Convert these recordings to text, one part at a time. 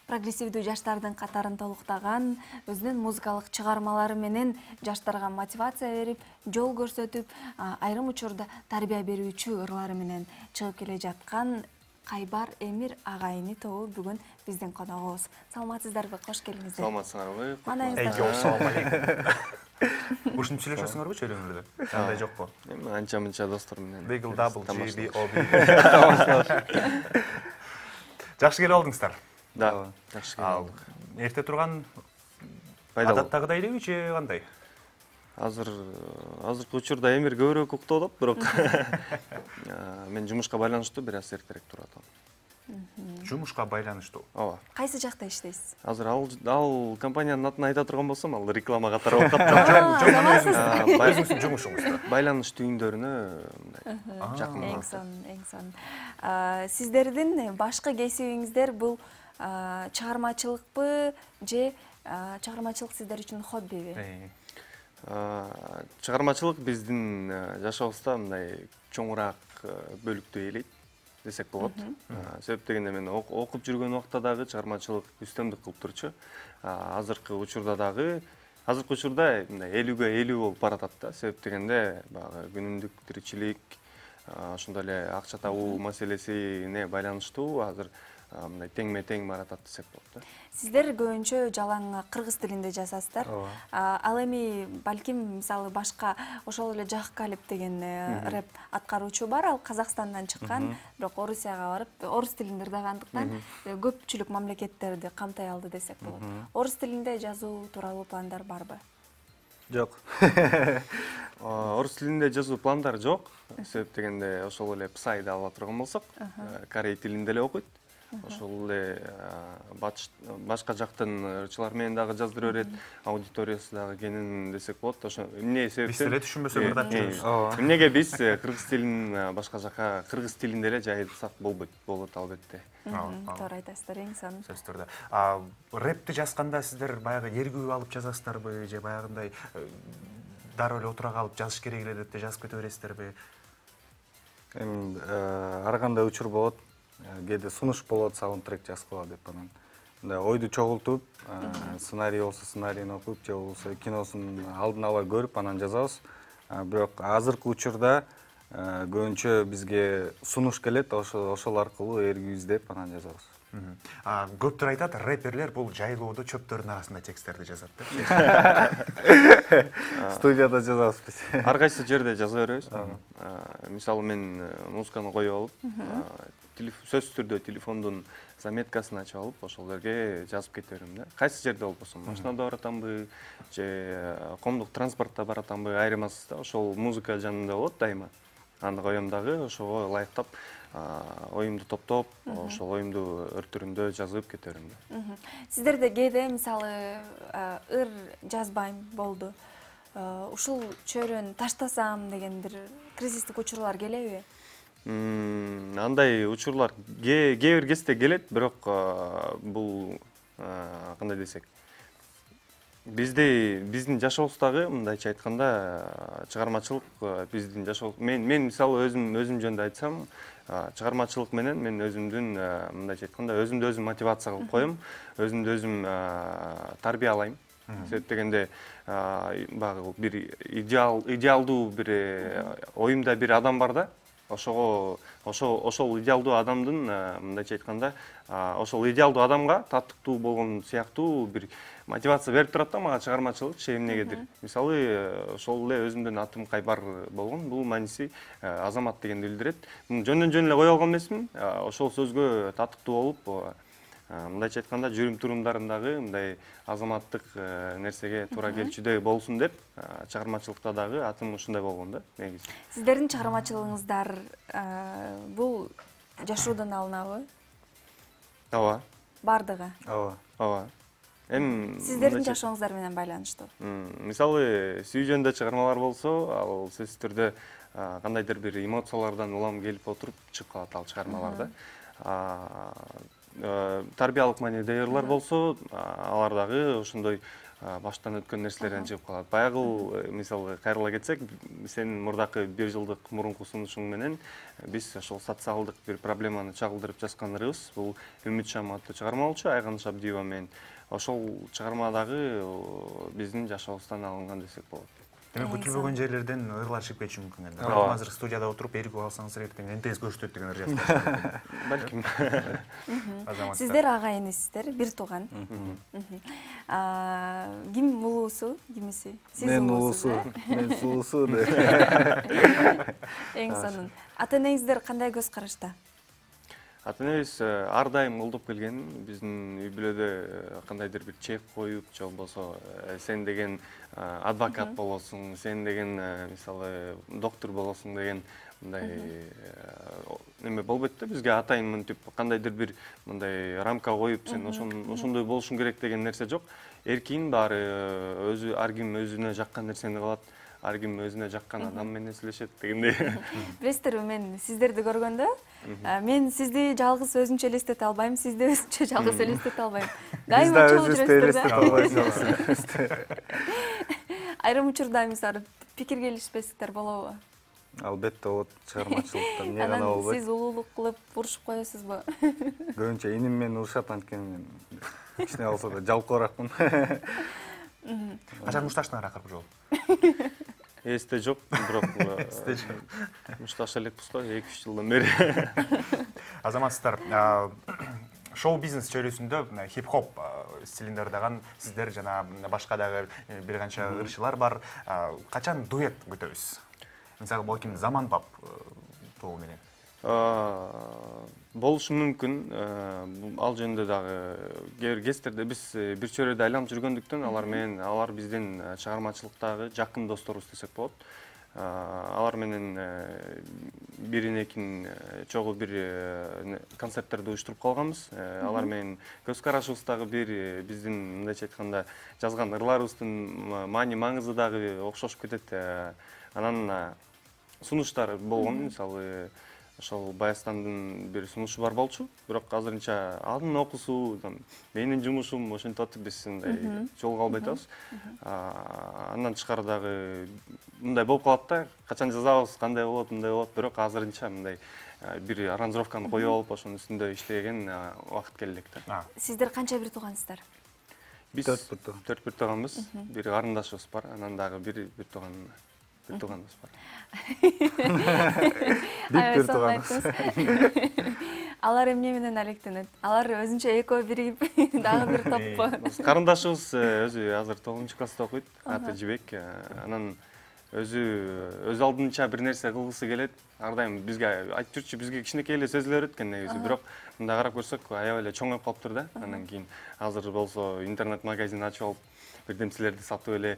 прогрессивдүү жаштардын катарын толуктаган, өзүнүн музыкалык чыгармалары менен жаштарга мотивация берип, жол көрсөтүп, айрым учурда тарбия берүүчү ырлары менен чыгып келе жаткан Кайбар Эмир агайыны тобу бүгүн биздин коногубуз. Саламатсыздарбы? Кош келиңиздер. Саламатсыңарбы? Assalomu alaykum. Ушинтип сүйлөшөсүңөрбү чөйрөңөрдө? Андай жокпу? Эми анча-мынча достор менен. Bagel double GB. Жакшы келип алдыңыздар. Да, жакшы келип алдык. Эрте турган адаттагыдай элеби же кандай? Азыркы учурда Эмир көбүрөөк уктоп атат, бирок мен жумушка байланыштуу бир аз эртерээк туруп атам. Жумушка байланыштуу. Ооба. Кайсы жакта иштейсиз? Азыр ал компаниянын атын айта турган болсом, ал реклама катары болуп калат. Өзүңүздүн жумушуңузда. Байланыш түйүндөрүнө мындай жакын. Эң сонун. Сиздердин башкы кесибиңиздер бул чыгармачылыкпы же чыгармачылык сиздер үчүн хоббиби? Чыгармачылык биздин жашообузда мындай чоңураак бөлүктү ээлейт десек болот. Себеп дегенде мен окуп жүргөн убакта дагы чыгармачылык үстөмдүк кылып турчу. Азыркы учурда мындай 50-ге 50 болуп баратат да. Себеп дегенде баягы күнүмдүк тиричилик, ошондой эле акча табуу маселесине байланыштуу азыр мындай теңме-тең баратат десек болот да. Сиздер көбүнчө жалаң кыргыз тилинде жазасыздар. Ал эми балким мисалы башка ошол эле Жаккалип деген рэп аткаруучу бар, ал Казакстандан чыккан, бирок Орусияга барып, орус тилинде ырдагандыктан көпчүлүк мамлекеттерди камтай алды десек болот. Орус тилинде жазуу тууралуу пландар барбы? Жок. Орус тилинде жазуу пландар жок. Себеп дегенде ошол эле Псайды ала турган болсок, корей тилинде эле окуйт. Ошол эле башка жактын ырчылар менен дагы жаздыра берет, аудиториясы дагы кенен десек болот. Ошо эмне себептен биз деле түшүнбөсөк ырдап жүрөбүз. Эмнеге биз кыргыз тилин башка жака кыргыз тилинде эле жайылсак болбойт, болот албетте. Туура айтасыздар, эң сонун. Сөз түрдө. Рэпти жазганда сиздер баягы эргүү алып жазасыздарбы же баягындай дароо эле отура калып жазыш керек эле деп жазып кете бересиздерби? Эми ар кандай учур болот. Кээде сунуш болот, саундтрек жазып кала деп анан. Мындай ойду чогултуп, сценарий болсо сценарийин окуп, же болбосо киносун алдын ала көрүп анан жазабыз. Бирок азыркы учурда көбүнчө бизге сунуш келет, ошол аркылуу эргүү издеп анан жазабыз. Көптөр айтат, рэперлер бул жайлоодо чөптөрдүн арасында тексттерди жазат деп. Студияда жазабыз биз. Ар кайсы жерде жаза беребиз. Мисалы мен музыканы коюп алып, сөзсүз түрдө телефондун заметкасын ачып алып, ошол жерге жазып кете берем да. Кайсы жерде болбосун, машинада баратамбы, же коомдук транспортто баратамбы, айырмасыз да. Ошол музыка жанында болот дайыма. Аны коем дагы, ошого ылайыктап оюмду топтоп, ошол оюмду өртүрүндө жазып кете берем да. Сиздерде кээде мисалы ыр жазбайм болду, ушул чөйрөнү таштасам деген бир кризистик учурлар келеби? Андай учурлар кээ бир кезде келет, бирок бул кандай десек, биздин жашообуздагы мындайча айтканда чыгармачылык биздин жашоо. Мен мисалы өзүм жөнүндө айтсам, чыгармачылык менен мен өзүмдүн мындайча айтканда өзүмдү өзүм мотивация кылып коем, өзүмдү өзүм тарбиялайм. Себеп дегенде баягы бир идеалдуу бир оюмда бир адам бар да. Ошол идеалдуу адамдын мындайча айтканда, ошол идеалдуу адамга таттыктуу болгон сыяктуу бир мотивация берип турат да мага чыгармачылыкчы эмнегедир. Мисалы, ошол эле өзүмдүн атым Кайбар болгон, бул мааниси азамат дегенди билдирет. Жөндөн жөн эле кое алган эмесмин, ошол сөзгө таттыктуу болуп, мындайча айтканда жүрүм-турумдарындагы мындай азаматтык нерсеге туура келчүдөй болсун деп, чыгармачылыкта дагы атым ушундай болгон да, негизи. Сиздердин чыгармачылыгыңыздар бул жашоодон алынабы? Ооба. Бардыгы? Ооба. Сиздердин жашооңуздар менен байланыштуу. Мисалы, сүйүү жөнүндө чыгармалар болсо, ал сөзсүз түрдө кандайдыр бир эмоциялардан улам келип отуруп чыгып калат ал чыгармаларда. Тарбиялык маанидеги ырлар болсо, алар дагы ошондой баштан өткөн нерселерден чыгып калат. Баягы мисалы кайрыла кетсек, сенин мурдакы 1 жылдык мурунку сунушуң менен биз ошол социалдык бир проблеманы чагылдырып жазгандарыбыз. Бул Үмүт шам аттуу чыгарма болчу, Айган Шабдиева менен. Ошол чыгармадагы биздин жашообуздан алынган десек болот. Демек күтүлбөгөн жерлерден ырлар чыгып кетиши мүмкүн эле. Бирок азыр студияда отуруп эргүү алсаңыз экен, энтеңиз көрсөтөт деген ыр жазып. Балким. Сиздер ага инисиздер, бир тууган. Ким улуусу, кимиси? Сиз улуусу. Мен сулуусу. Эң сонун. Ата-энеңиздер кандай көз карашта? Ата-энебиз ар дайым колдоп келген. Биздин үй бүлөдө кандайдыр бир чек коюп, же болбосо сен деген адвокат болосуң, сен деген мисалы доктор болосуң деген мындай неме болбойт да. Бизге атайын мынтип кандайдыр бир мындай рамка коюп, сен ошондой болушуң керек деген нерсе жок. Эркин баары өзү ар ким өзүнө жаккан нерсени кылат. Ар ким өзүнө жаккан адам менен сүйлөшөт дегендей. Билесиздерби, мен сиздерди көргөндө, мен сизди жалгыз өзүнчө элестете албайм, сизди өзүнчө жалгыз элестете албайм. Дайыма чогуу жүрөсүздөр да. Айрым учурда мисалы пикир келишпестиктер болобу? Албетте болот, чыгармачылыкта эмне гана болбойт. Сиз улуулук кылып урушуп коесузбу? Көбүнчө иним менен урушат, анткени мен кичине болсо да жалкооракмын. Качан мушташтың акыркы жолу? Эсте жок, бирок мушташ элекпиз го 2-3 жылдан бери. Азаматсыздар, шоу-бизнес чөйрөсүндө хип-хоп стилинде ырдаган сиздер жана башка дагы бир канча ырчылар бар. Качан дуэт күтөбүз? Мисалы, балким Заман Пап тобу менен. Болушу мүмкүн. Ал жөнүндө дагы кээ бир кездерде биз бир чөйрөдө айланып жүргөндүктөн алар биздин чыгармачылыктагы жакын досторубуз десек болот. Алар менен бирин-экин чогуу бир концерттерди уюштуруп калганбыз. Алар менен көз карашыбыз дагы бир, биздин мындайча айтканда жазган ырларыбыздын маани маңызы дагы окшошуп кетет. Анан сунуштар болгон, мисалы ошол Баястандын бир сунушу бар болчу, бирок азырынча анын окуусу, менин жумушум ошентип атып биз мындай жолго албай атабыз. Андан тышкары дагы мындай болуп калат да, качан жазабыз, кандай болот, мындай болот, бирок азырынча мындай бир аранжировканы коюп алып, ошонун үстүндө иштеген убакыт келе элек да. Сиздер канча бир туугансыздар? Биз 4 бир тууганбыз, бир карындашыбыз бар, анан дагы бир тууганыбыз бар. Бир тууганыбыз. Алар эмне менен алектенет? Алар өзүнчө экөө биригип дагы бир топпу. Карындашыбыз өзү азыр 9-класста окуйт, аты Жибек. Анан өз алдынча бир нерсе кылгысы келет. Ар дайым бизге айтып жүрчү, бизге кичинекей эле сөзүлөр экен негизи, бирок мындай карап көрсөк аябай эле чоңоюп калыптыр да. Андан кийин азыр болсо интернет магазин ачып алып, бирдемселерди сатып эле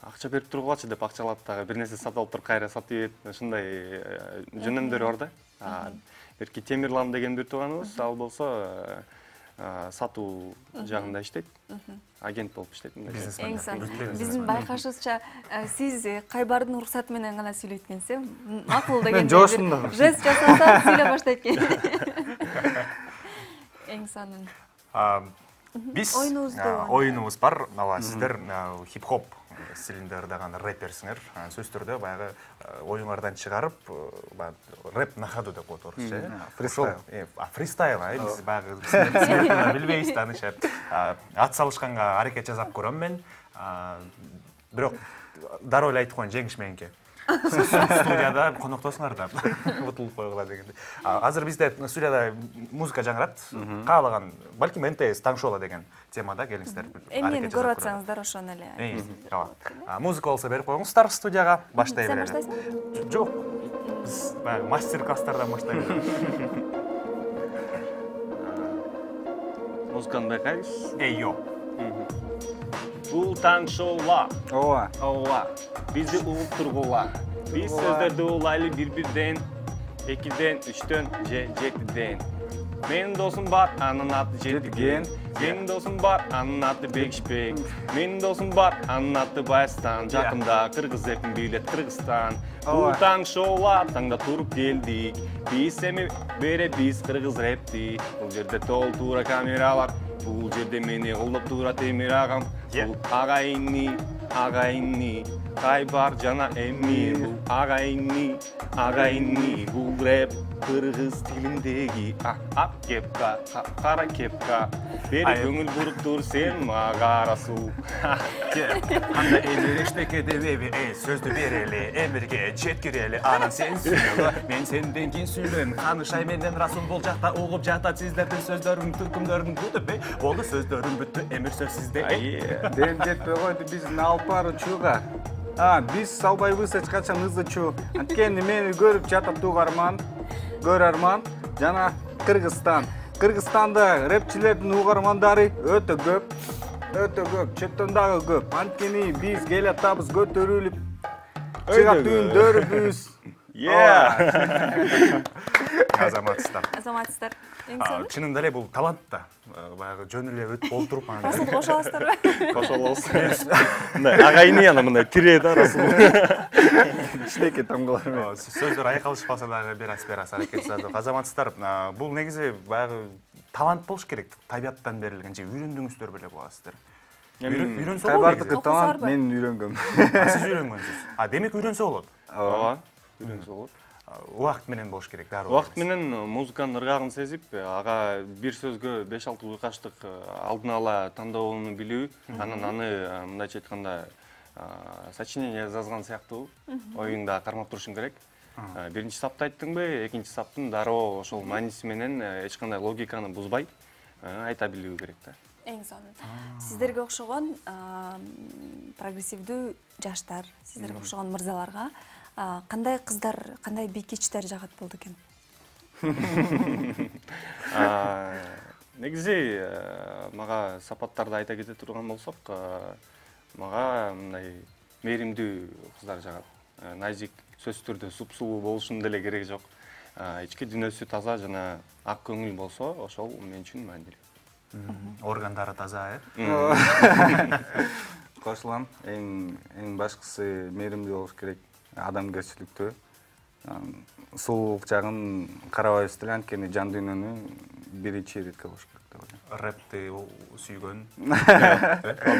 акча берип тургулачы деп акчалап дагы бир нерсе сатып алып туруп кайра сатып ийет. Ушундай жөнөмдөр бар да. Берки Темирлан деген бир тууганыбыз, ал болсо сатуу жагында иштейт. Агент болуп иштейт. Эң сонун. Биздин байкашыбызча, сиз Кайбардын уруксаты менен гана сүйлөйт экенсиз, макул деген жест жасаса сүйлөй баштайт экен. Эң сонун. Биз оюнубуз бар, сиздер хип-хоп стилинде ырдаган рэперсиңер. Сөздөрдө баягы оюңардан чыгарып, рэп на ходу деп коет орусча. Фристайл. Фристайл, биз баягы билбейбиз да, аныча. Ат салышканга аракет жасап көрөм мен. Бирок дароо эле айтып коеюн, жеңиш мененки. Студияда коноктосуңар да, утулуп койгула дегенде. Азыр бизде студияда музыка жаңырат. Каалаган, балким НТС Таңшола деген темада келиңиздер. Эмнени көрүп атсаңыздар ошону эле. Музыка болсо берип коюңуздар студияга, баштай берели. Сен баштайсың? Жок. Биз мастер-класстардан баштайбыз. Музыканы байкайбыз. Эйо. Бул Таңшола. Ооба. Бизди угуп тургула. Биз сөздөрдү улайлы бир-бирден, 2ден, 3дөн же 7ден. Менин досум бар, анын аты Жетиген. Менин досум бар, анын аты Бекишбек. Менин досум бар, анын аты Баястан. Жакында кыргыз эпин бийлет Кыргызстан. Бул Таңшола, таңда туруп келдик. Биз эми биз кыргыз рэпти. Бул жерде толтура камералар. Бул жерде мени колдоп турат Эмир агам. бул агайынны Кайбар жана эми бул агайынны бул рэп кыргыз тилиндеги ак кепка кара кепка бери көңүл буруптур сен мага расул. Анда эле эчтеке дебеби сөздү берели эмирге жеткирели анан сен сүйлө мен сенден кийин сүйлөйм Канышай менен Расул бул жакта угуп жатат сиздердин сөздөрүң түркүмдөрүн бүтүп болду сөздөрүм бүттү эмир сөз сизде. Дем жетпей койду биздин алып баруучуга. Биз салбайбыз эч качан ызычу. Анткени мени көрүп жатат көрөрман жана Кыргызстан. Кыргызстанда рэпчилердин угармандары өтө көп, четтен дагы көп. Анткени биз келатабыз көтөрүлүп, чыгат үйүндөрүбүз. Азаматсыздар. Чынында эле бул талант да. Баягы жөн эле өтүп олтуруп Расул кошо аласыздарбы? Кошо алабыз. Мындай агайыны ана мындай тире да Расул. Кичинекей тамгалар. Сөздөр айкалышпаса дагы берас аракет жасадык. Азаматсыздар, бул негизи баягы талант болуш керек. Табияттан берилген же үйрөндүңүздөр беле буласыздар. Үйрөнсө болот. Кайбардыкы талант мен үйрөнгөм. Сиз үйрөнгөнсүз. Демек үйрөнсө болот. Ооба, үйрөнсө болот. Убакыт менен болуш керек дароо. Убакыт менен музыканын ыргагын сезип, ага бир сөзгө 5-6 уйкаштык алдын ала тандоону билүү, анан аны мындайча айтканда сочинение жазган сыяктуу оюңда кармап турушуң керек. Биринчи сапты айттыңбы, экинчи саптын дароо ошол мааниси менен эч кандай логиканы бузбай айта билүү керек да. Эң сонун. Сиздерге окшогон прогрессивдүү жаштар, сиздерге окшогон мырзаларга кандай кыздар, кандай бийкичтер жагат болду экен? Негизи мага сапаттарды айта кете турган болсок, мага мындай мээримдүү кыздар жагат. Назик, сөзсүз түрдө супсулуу болушунун деле кереги жок. Ички дүйнөсү таза жана ак көңүл болсо, ошол мен үчүн маанилүү. Органдары таза, Кошулам. Эң башкысы мээримдүү болуш керек. Адамгерчиликтүү. Сулуулук жагын карабайбыз деле, анткени жан дүйнөнү биринчи иретке болуш керек деп ойлойм. Рэпти сүйгөн.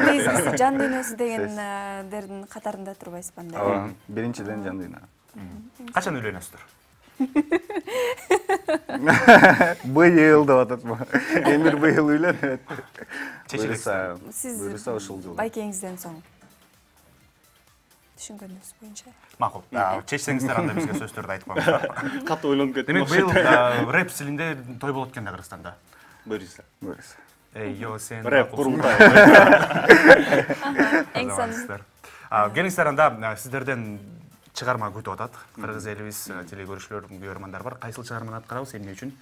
Биз жан дүйнөсү дегендердин катарында турбайсызбы анда? Ооба, биринчиден жан дүйнө. Качан үйлөнөсүздөр? Быйыл деп ататмы? Эмир быйыл үйлөнөт. Сиз ушул жыл. байкеңизден соң түшүнгөнүңүз боюнча. Макул. Чечсеңиздер анда бизге сөздөрдү айтып коюңуздар. Катуу ойлонуп кеттим. Демек быйыл рэп стилинде той болот экен да Кыргызстанда. Буюрса. Йо сен рэп курултай. Эң сонун. Келиңиздер анда сиздерден чыгарма күтүп атат. Кыргыз элибиз телекөрүүчүлөр, көрөрмандар бар. Кайсыл чыгарманы аткарабыз, эмне үчүн?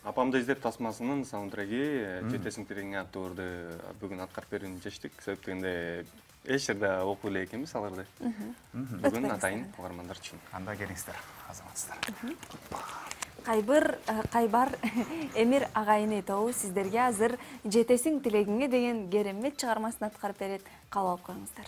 Апамды издеп тасмасынын саундтреги жетесиң тиреңе аттуу өрдү бүгүн аткарып берүүнү чечтик. Себеп дегенде эч жерде окуй эле экенбиз аларды. Бүгүн атайын угармандар үчүн. Анда келиңиздер, азаматсыздар. Кайбар Эмир агайыны тобу сиздерге азыр жетесиң тилегиңе деген керемет чыгармасын аткарып берет. Кабыл алып коюңуздар.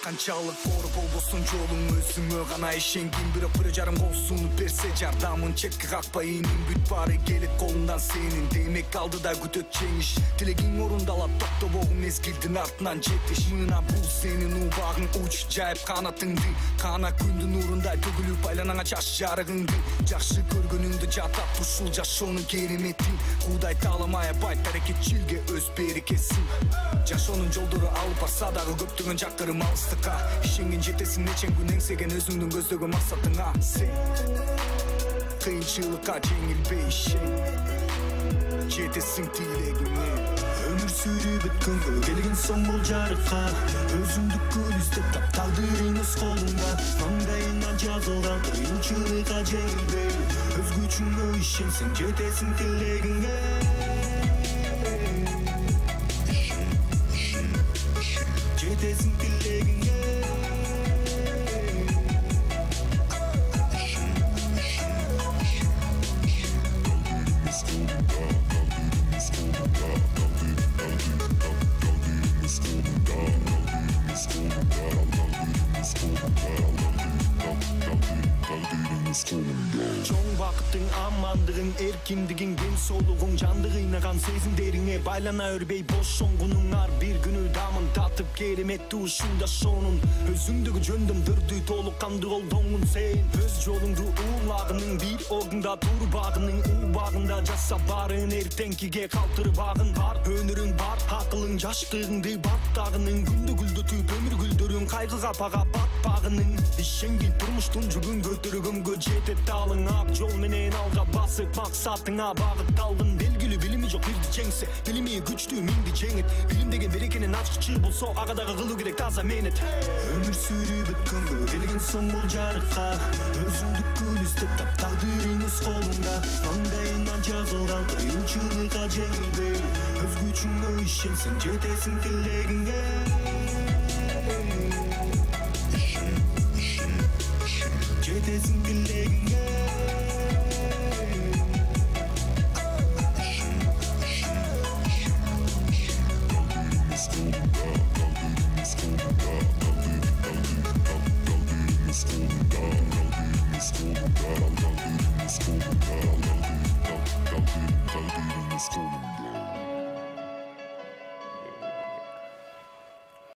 Канчалык оор болбосун жолуң өзүңө гана ишенгин, бирок бир жарым кол сунуп берсе жардамын четке какпай инин бүт баары келет колундан сенин. Демек алдыда күтөт жеңиш, тилегиң орундалат токтобогу мезгилдин артынан жетиш. Мына бул сенин убагың, уч жайып канатыңды, кана күндүн нурундай төгүлүп айланаңа чаш жарыгыңды. Жакшы көргөнүңдү жатат ушул жашоонун керемети, Кудай таламай бай берекетчилге өз берекесин. Жашоонун жолдору алып барса дагы көптөгөн жакырым алыс. Ишенген жетесиң нечен күн эңсеген өзүңдүн көздөгөн максатыңа. Сен кыйынчылыкка жеңилбей ишен, жетесиң тилегиңе. Өмүр сүрүп өткөнгө келген соң бул жарыкка, өзүңдү күн издеп тап, тагдырың өз колуңда. Маңдайыңа жазылган кыйынчылыкка жеңилбей, өз күчүңө ишенсең жетесиң тилегиңе. Жетесиң тилегиңе. эркиндигиң, ден соолугуң, жанды кыйнаган сезимдериңе байлана өрбөй бошонгунуң, ар бир күнү дамын татып кереметтүү ушунда шонун. Өзүңдөгү жөндөмдөрдү толук кандуу колдоңун сен. Өз жолуңду уулагының, бир ордунда турбагының, убагында жаса барын, эртеңкиге калтырбагын. Бар өнөрүң, бар акылың, жаштыгыңды баттагының, күндү гүлдөтүп өмүр гүлдөрүң, кайгыга пага батпагының. Ишенгил турмуштун жүгүн көтөргөнгө жетет талың, ак жол менен алга басып максатыңа багытталдың. Белгилүү билими жок бирди жеңсе, билими күчтүү миңди жеңет. Билим деген берекенин ачкычы болсо, ага дагы кылуу керек таза менет. Өмүр сүрүп өткөнгө келген соң бул жарыкка, өзүңдү күлүстөп тап, тагдырыңыз колуңда. Маңдайына жазылган кыйынчылыкка жеңилбей, өз күчүңө ишенсең жетесиң тилегиңе. Жетесиң тилегиңе. Let's go.